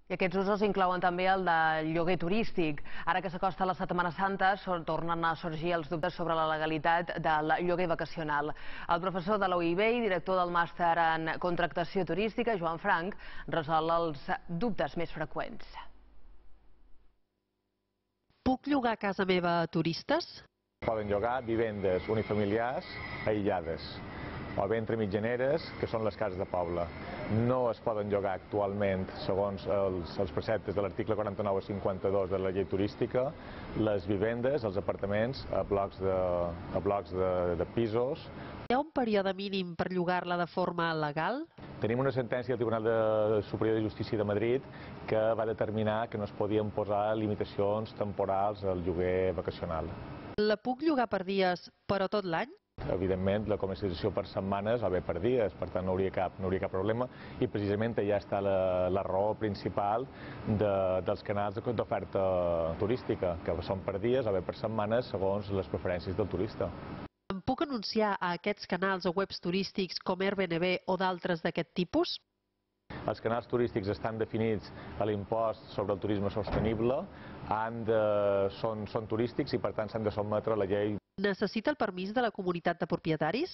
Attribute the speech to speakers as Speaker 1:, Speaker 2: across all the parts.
Speaker 1: I aquests usos inclouen també el de lloguer turístic. Ara que s'acosta la Setmana Santa, tornen a sorgir els dubtes sobre la legalitat del lloguer vacacional. El professor de la UIB i director del màster en contractació turística, Joan Frank, resol els dubtes més freqüents.
Speaker 2: Puc llogar a casa meva a turistes?
Speaker 3: Poden llogar vivendes unifamiliars aïllades o bé entre mitjaneres, que són les cases de poble. No es poden llogar actualment, segons els preceptes de l'article 49 a 52 de la llei turística, les vivendes, els apartaments, a blocs de pisos.
Speaker 2: Hi ha un període mínim per llogar-la de forma legal?
Speaker 3: Tenim una sentència del Tribunal Superior de Justícia de Madrid que va determinar que no es podien posar limitacions temporals al lloguer vacacional.
Speaker 2: La puc llogar per dies, però tot l'any?
Speaker 3: Evidentment, la comercialització per setmanes va bé per dies, per tant no hauria cap problema, i precisament allà està la raó principal dels canals d'oferta turística, que són per dies o bé per setmanes segons les preferències del turista.
Speaker 2: Em puc anunciar a aquests canals o webs turístics com Airbnb o d'altres d'aquest tipus?
Speaker 3: Els canals turístics estan definits a l'impost sobre el turisme sostenible, són turístics i per tant s'han de sotmetre a la llei.
Speaker 2: Necessita el permís de la comunitat de propietaris?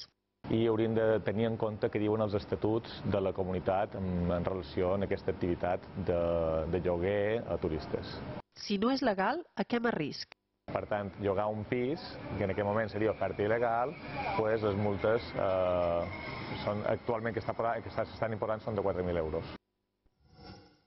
Speaker 3: I hauríem de tenir en compte què diuen els estatuts de la comunitat en relació amb aquesta activitat de lloguer a turistes.
Speaker 2: Si no és legal, a què m'arrisc?
Speaker 3: Per tant, llogar un pis, que en aquest moment seria oferta il·legal, doncs les multes actualment que s'estan imposant són de 4.000 euros.